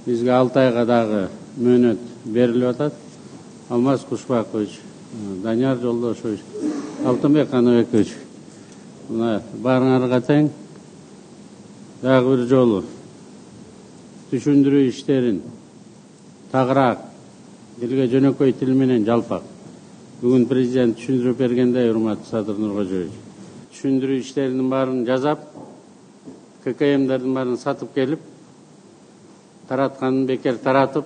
Бизге 6 айга дагы мөөнөт берилип атат. Алмаз Кушбакович, Данияр Жолдошевич, Алтынбек Каныбекович, мына баарыңарга тең дагы бир жолу түшүндүрүү иштерин тагыраак элге жөнөкөй тил менен жалпак. Бүгүн президент түшүндүрүп бергендей, урматтуу Садыр Нуркожоевич, түшүндүрүү иштеринин баарын жасап, ККМдердин баарын сатып келип, таратканын бекер таратып,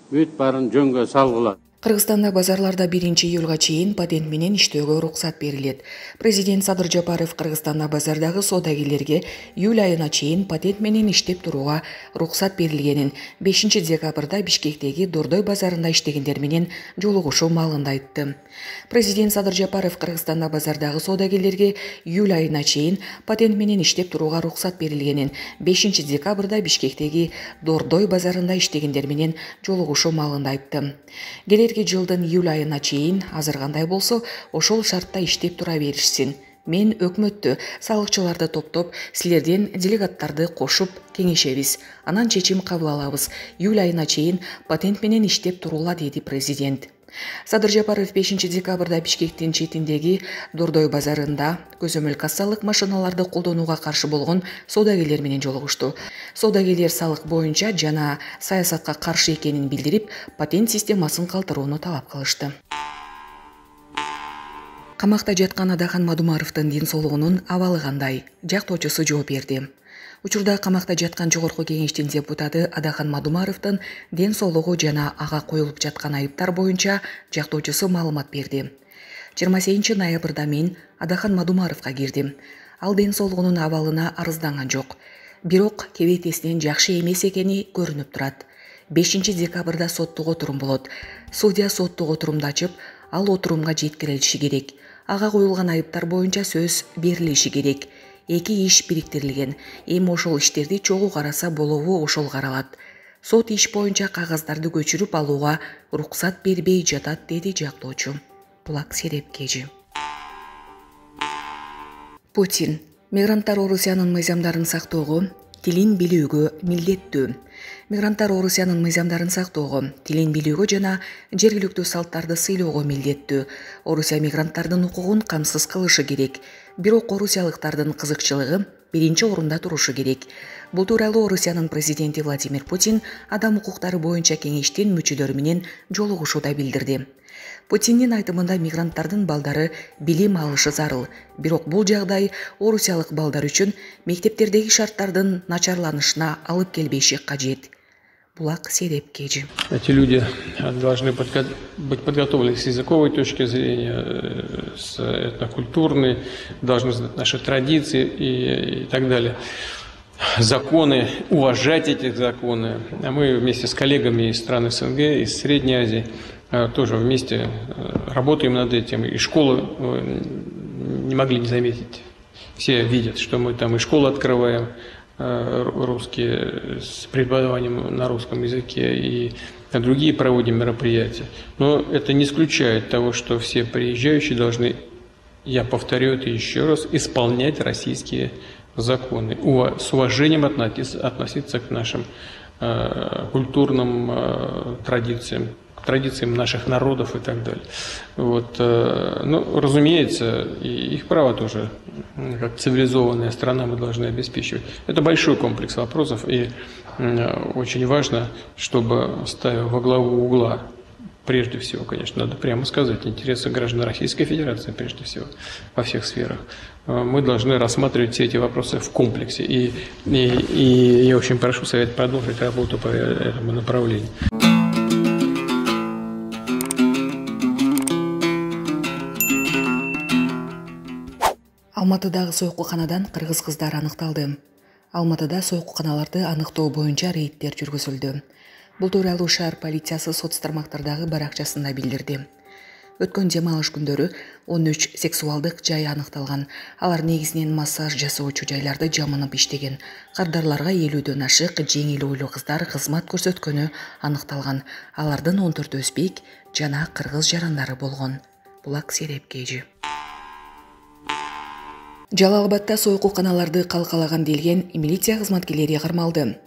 бүт баарын жөнгө салгыла. Кыргызстанда базарларда 1-июлга чейин патент менен иштөөгө уруксат берилет. Президент Садыр Жапаров Кыргызстанда базардагы соодагерлерге июль айына чейин патент менен иштеп турууга уруксат берилгенин 5 декабрда Бишкектеги Дордой базарында иштегендер менен жолугушуу маалында айтты. Президент Садыр Жапаров Кыргызстанда базардагы соодагерлерге июль айына чейин патент менен иштеп турууга уруксат берилгенин 5 декабрда Бишкектеги Дордой базарында иштегендер менен жолугушуу маалында айтты. Жылдын июль айына чейин азыр кандай болсо, ошол шартта иштеп тура беришсин. Мен өкмөттү, салыкчыларды топтоп, силерден делегаттарды кошуп кеңешебиз. Анан чечим кабыл алабыз. Июль айына чейин патент менен иштеп турула, деди президент. Садыр Жапаров 5 декабрда Бишкектин четиндеги Дордой базарында көзөмөл кассалык машиналарды колдонууга каршы болгон соодагерлер менен жолугушту. Соодагерлер салык боюнча жана саясатка каршы экенин билдирип, патент системасын калтырууну талап кылышты. Камакта жаткан Адахан Мадумаровдун ден соолугунун абалы кандай? Жактоочусу жооп берди. Учурда камакта жаткан Жогорку кеңештин депутаты Адахан Мадумаровдун ден соолугу жана ага коюлуп жаткан айыптар боюнча жактоочусу маалымат берди. 28 ноябрда мен Адахан Мадумаровго кирдим. Ал ден соолугунун абалына арызданган жок. Бирок кебетесинен жакшы эмес экени көрүнүп турат. 5 декабрда соттук отурум болот. Судья соттук отурумду ачып, ал отурумга жеткирилиши керек. Ага коюлган айыптар боюнча сөз берилиши керек. 2 иш бириктирилген. Эми ошол иштерди чогуу караса болобу, ошол каралат. Сот иш боюнча кагаздарды көчүрүп алууга уруксат бербей жатат, деди жактоочу. Булак Серепкежи. Путин мигранттар Орусиянын мыйзамдарын сактоого, тилин билүүгө милдеттүү. Мигранттар Орусиянын мыйзамдарын сактоого, тилин билүүгө жана жергиликтүү салттарды сыйлоого милдеттүү. Орусия мигранттардын укугун камсыз кылышы керек. Бирок орусиялыктардын кызыкчылыгы биринчи орунда турушу керек. Бул тууралуу Орусиянын президенти Владимир Путин адам укуктары боюнча кеңештин мүчөлөрү менен жолугушууда билдирди. Путиндин айтымында мигранттардын балдары билим алышы зарыл. Бирок бул жагдай орусиялык балдар үчүн мектептердеги шарттардын начарланышына алып келбеши кажет. Булак Серепкежи. Эти люди должны быть подготовлены с языковой точки зрения, с этнокультурной, должны знать наши традиции и так далее. Законы, уважать эти законы. А мы вместе с коллегами из стран СНГ, из Средней Азии, тоже вместе работаем над этим. И школы не могли не заметить. Все видят, что мы там и школы открываем, русские, с преподаванием на русском языке, и другие проводим мероприятия. Но это не исключает того, что все приезжающие должны, я повторю это еще раз, исполнять российские законы, с уважением относиться к нашим культурным традициям, к традициям наших народов и так далее. Вот, ну, разумеется, и их право тоже, как цивилизованная страна, мы должны обеспечивать. Это большой комплекс вопросов, и очень важно, чтобы, ставя во главу угла, прежде всего, конечно, надо прямо сказать, интересы граждан Российской Федерации, прежде всего, во всех сферах, мы должны рассматривать все эти вопросы в комплексе. И я очень прошу Совет продолжить работу по этому направлению. Алматыдагы сойкуканадан кыргыз кыздар аныкталды. Алматыда сойкуканаларды аныктоо боюнча рейдтер жүргүзүлдү. Бул тууралуу шаар полициясы соц тармактардагы баракчасында билдирди. Өткөн дем алыш күндөрү 13 сексуалдык жай аныкталган. Алар негизинен массаж жасоочу жайларды жамынып иштеген. Кардарларга 50дөн ашык жеңил ойлуу кыздар кызмат көрсөткөнү аныкталган. Алардын 14 өзбек жана кыргыз жарандары болгон. Булак Серепкежи. Жалал Абадта сойкуканаларды калкалаган делген милиция кызматкерлери кармалды.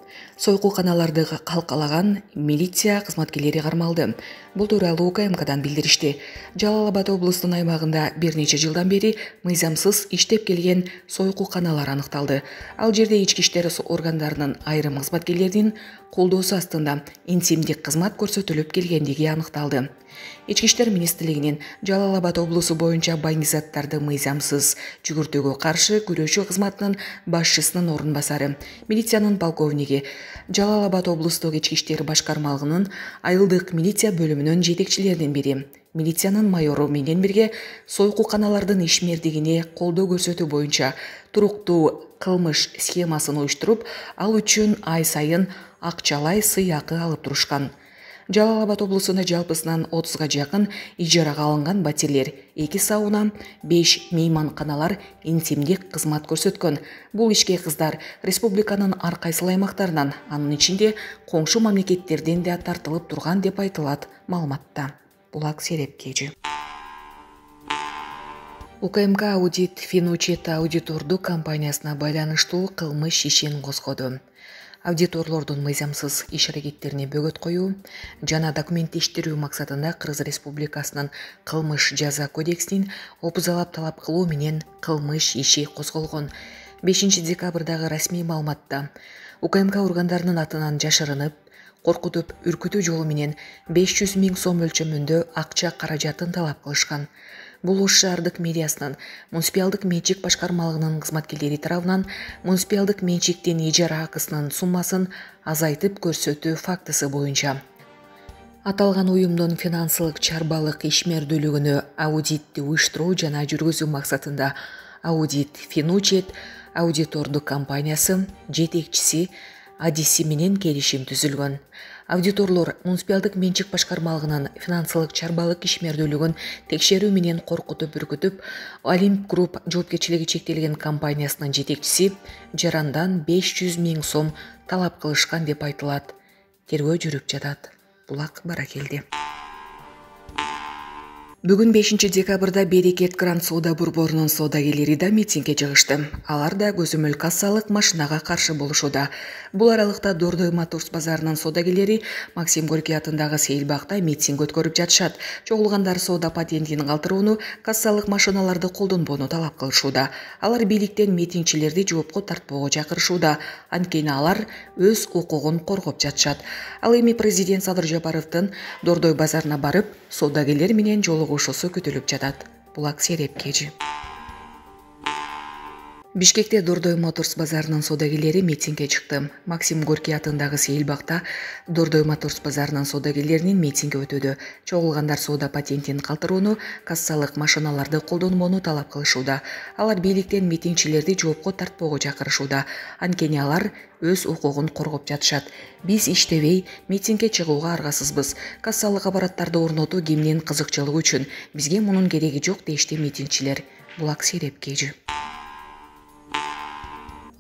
Сойкуканаларды калкалаган милиция кызматкерлери кармалды. Бул тууралуу УКМКдан билдиришти. Жалал Абад облусунун аймагында бир нече жылдан бери мыйзамсыз иштеп келген сойкуканалар аныкталды. Ал жерде ички иштер органдарынын айрым кызматкерлеринин колдоосу астында интимдик кызмат көрсөтүлүп келгендиги аныкталды. Ички иштер министрлигинин Жалал Абад облусу боюнча байыңки заттарды мыйзамсыз жүгүртүүгө каршы күрөшүү кызматынын башчысынын орун басары, милициянын полковниги, Жалал Абад облустук ички иштер башкармалыгынын айылдык милиция бөлүмүнүн жетекчилеринин бири, милициянын майору менен бирге сойкуканалардын ишмердигине колдоо көрсөтүү боюнча туруктуу кылмыш схемасын уюштуруп, ал үчүн ай сайын акчалай сыйакы алып турушкан. Жалал Абад облусунда жалпысынан 30га жакын ижарага алынган батирлер, 2 сауна, 5 мейманканалар интимдик кызмат көрсөткөн. Бул ишке кыздар республиканын ар кайсыл аймактарынан, анын ичинде коңшу мамлекеттерден да тартылып турган деп айтылат маалыматта. Булак Серепкежи. УКМК аудит Финучет аудитордук компаниясына байланыштуу кылмыш ишин козгоду. Аудиторлордун мыйзамсыз иш-аракеттерине бөгөт коюу жана документтештирүү максатында Кыргыз Республикасынын кылмыш жаза кодексинин опузалап талап кылуу менен кылмыш иши козголгон. 5 декабрдагы расмий маалыматта УКМК органдарынын атынан жашырынып, коркутуп, үркүтүү жолу менен 500 000 сом өлчөмүндө акча каражатын талап кылышкан. Бул Ош шаардык мэриясынын муниципалдык менчик башкармалыгынын кызматкерлери тарабынан муниципалдык менчиктин ижара акысынын суммасын азайтып көрсөтүү фактысы боюнча аталган уюмдун финансылык чарбалык ишмердүүлүгүнө аудитти уюштуруу жана жүргүзүү максатында аудит Финучет аудитордук компаниясы жетекчиси Адиси менен келишим түзүлгөн. Аудиторлор муниципалдык менчик башкармалыгынын финансылык чарбалык ишмердүүлүгүн текшерүү менен коркутуп үркүтүп, Олимп Групп жоопкерчилиги чектелген компаниясынын жетекчиси жарандан 500 000 сом талап кылышкан деп айтылат. Тергөө жүрүп жатат. Булак Баракелди. Бүгүн 5 декабрда Берекет Гранд Соода борборунун соодагерлери да митингге чыгышты. Алар да көзөмөл кассалык машинага каршы болушууда. Бул аралыкта Дордой Моторс базарынын соодагерлери Максим Горький атындагы Сейилбакта митинг өткөрүп жатышат. Чогулгандар соода патентин калтырууну, кассалык машиналарды колдонбоону талап кылышууда. Алар бийликтен митингчилерди жоопко тартпоого чакырышууда. Анткени алар өз укугун коргоп жатышат. Ал эми президент Садыр Жапаровдун Дордой базарына барып, соодагерлер менен жолугушуусу күтүлүп жатат. Булак Серепкежи. Бишкекте Дордой Моторс базарынын соодагерлери митингге чыкты. Максим Горький атындагы Сейилбакта Дордой Моторс базарынын соодагерлеринин митинги өтөдү. Чогулгандар соода патентин калтырууну, кассалык машиналарды колдонбоону талап кылышууда. Алар бийликтен митингчилерди жоопко тартпоого чакырышууда. Анткени алар өз укугун коргоп жатышат. Биз иштебей, митингге чыгууга аргасызбыз. Кассалык аппараттарды орнотуу кимдин кызыкчылыгы үчүн. Бизге мунун кереги жок дешти митингчилер. Булак Серепкежи.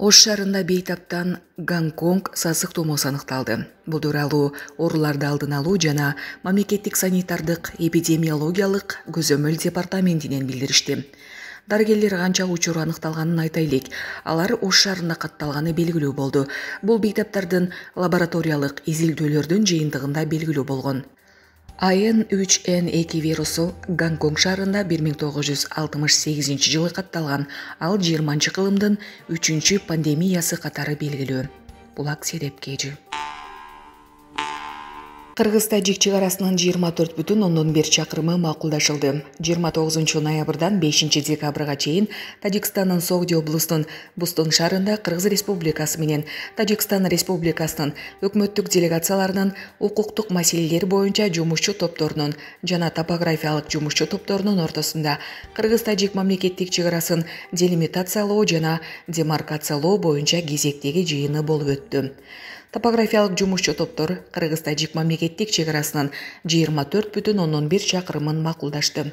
Ош шаарында бейтаптан Гонконг сасык тумоосу аныкталды. Бул тууралуу ооруларды алдын алуу жана мамлекеттик санитардык эпидемиологиялык көзөмөл департаментинен билдиришти. Дарыгерлер канча учур аныкталганын айтайлык. Алар Ош шаарында катталганы белгилүү болду. Бул бейтаптардын лабораториялык изилдөөлөрдүн жыйынтыгында белгилүү болгон. AN3N2 вирусу Гонконг шаарында 1968 жылы катталган. Ал 20 кылымдын 3 пандемиясы катары белгилүү. Булак Серепкежи. Кыргыз-Тажик чыгарасынын 24,1 чакырымы макулдашылды. 29 ноябрдан 5 декабрга чейин Тажикстандын Согди облусунун Бустун шаарында Кыргыз Республикасы менен Тажикстан Республикасынын өкмөттүк делегацияларынын укуктук маселелер боюнча жумушчу топторунун жана топографиялык жумушчу топторунун ортосунда Кыргыз-Тажик мамлекеттик чыгарасын делимитациялоо жана демаркациялоо боюнча кезектеги жыйыны болуп өттү. Топографиялык жумушчу топтор Кыргыз-Тажик мамлекеттик чыгарасынын 24,1 чакырымын макулдашты.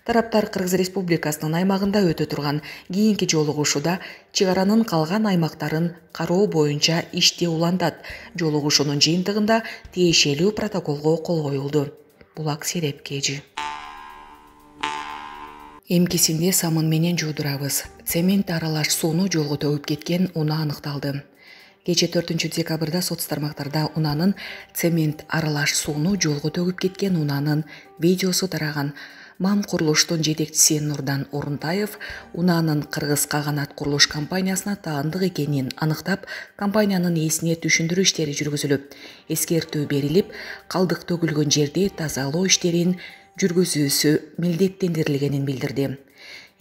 Тараптар Кыргыз Республикасынын аймагында өтө турган кийинки жолугушууда чыгаранын калган аймактарын кароо боюнча ишти улантат. Жолугушуунун жыйынтыгында тиешелүү протоколго кол коюлду. Булак Серепкежи. Эмкисинде самын менен жуудурабыз. Цемент аралаш сууну жолго төгүп кеткен унаа аныкталды. Кече 4 декабрда соц тармактарда унаанын цемент аралаш сууну жолго төгүп кеткен унаанын видеосу тараган. МАМ курулуштун жетекчиси Нурдан Орунтаев унаанын Кыргыз Каганат курулуш компаниясына таандык экенин аныктап, компаниянын ээсине түшүндүрүү иштери жүргүзүлүп, эскертүү берилип, калдык төгүлгөн жерди тазалоо иштерин жүргүзүүсү милдеттендирилгенин билдирди.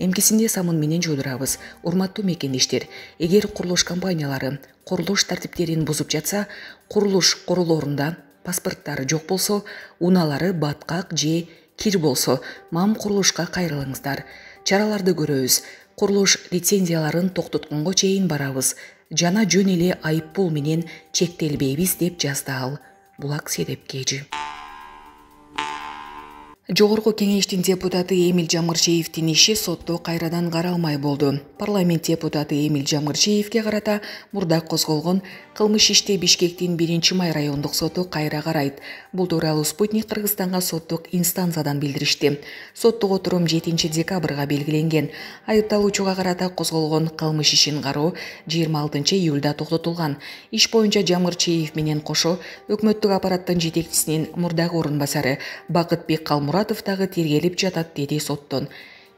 Эмкисинде самын менен жолдурабыз. Урматтуу мекендештер, эгер курулуш компаниялары курулуш тартиптерин бузуп жатса, курулуш королорунда паспорттары жок болсо, унаалары баткак же кир болсо, МАМ курулушка кайрылыңыздар. Чараларды көрөбүз. Курулуш лицензияларын токтотконго чейин барабыз. Жана жөн эле айып пул менен чектелбейбиз деп жазды ал. Булак Седепкежи. Жогорку кеңештин депутаты Эмил Жамырчиевдин иши сотто кайрадан каралмай болду. Парламент депутаты Эмил Жамырчиевге карата мурда козголгон кылмыш ишти Бишкектин 1-май райондук соту кайра карайт. Бул тууралуу Спутник Кыргызстанга соттук инстанциядан билдиришти. Соттук отурум 7 декабрга белгиленген. Айыпталуучуга карата козголгон кылмыш ишин кароо 26 июлда токтотулган. Иш боюнча Жамырчиев менен кошо өкмөттүк аппараттын жетекчисинин мурдагы орун басары Бакытбек Калмуратов дагы тергелип жатат, деди соттон.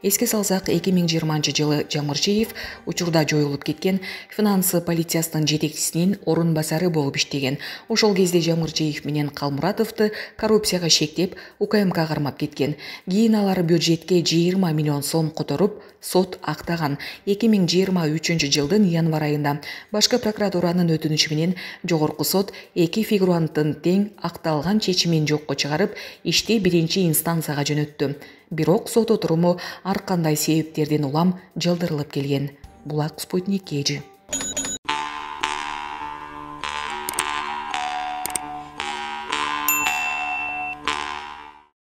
Эске салсак, 2020 жылы Жамырчиев учурда жоюлуп кеткен финансы полициясынын жетекчисинин орун басары болуп иштеген. Ошол кезде Жамырчиев менен Калмуратовду коррупцияга шектеп, УКМК кармап кеткен. Кийин алар бюджетке 20 миллион сом которуп, сот актаган. 2023 жылдын январь айында башкы прокуратуранын өтүнүчү менен жогорку сот эки фигуранттын тең акталган чечимин жокко чыгарып, ишти 1-инстанцияга жөнөттү. Бирок сот отуруму ар кандай себептерден улам жылдырылып келген. Булак Спутник Кежи.